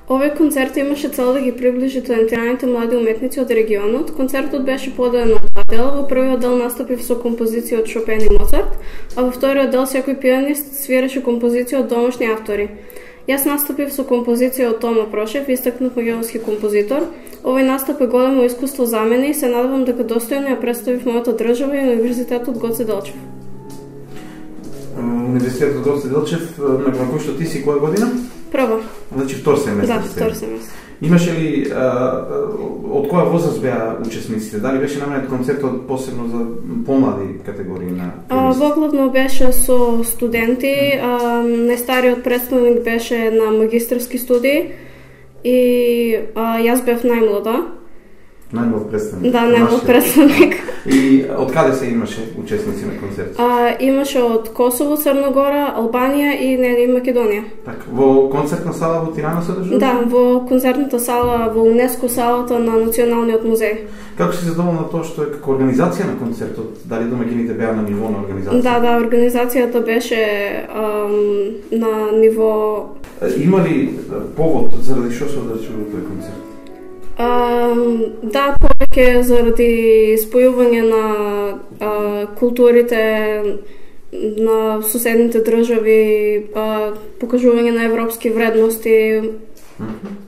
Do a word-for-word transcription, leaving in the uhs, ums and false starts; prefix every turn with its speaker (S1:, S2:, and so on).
S1: Овој концерт имаше цел да ги приближи талентираните млади уметници од регионот. Концертот беше поделен на два дела. Во првиот дел настапив со композиција од Шопен и Моцарт, а во вториот дел секој пианист свиреше композиција од домашни автори. Јас настапив со композиција од Тома Прошев, истакнат македонски композитор. Овој настап е големо искуство за мене и се надевам дека достојно ја представив мојата држава и Универзитетот Гоце Делчев.
S2: Универзитетот Гоце Делчев, на кој што ти си која година?
S1: Прва.
S2: Значи втор семестар.
S1: Да, втор семестар.
S2: Имаше ли, а, од која возраст беа учесниците? Дали беше наменет концертот посебно за помлади категории на пианисти?
S1: Воглавно беше со студенти, а, најстариот представник беше на магистарски студии и а, јас бев најмлада.
S2: Најмлад представник.
S1: Да, најмлад представник.
S2: И од каде се имаше учесници на концерт?
S1: А, имаше од Косово, Црна Гора, Албанија и нели Македонија.
S2: Так, во концертна сала во Тирана се одржува?
S1: Да, во концертната сала во УНЕСКО салата на Националниот музеј.
S2: Како си задоволна тоа што е како организација на концертот? Дали домаќините беа на ниво на организација?
S1: Да, да, организацијата беше ам, на ниво.
S2: Има ли повод заради што се одржува тој концерт?
S1: Uh, да, повеќе заради спојување на uh, културите на соседните држави, uh, покажување на европски вредности.
S2: Mm-hmm.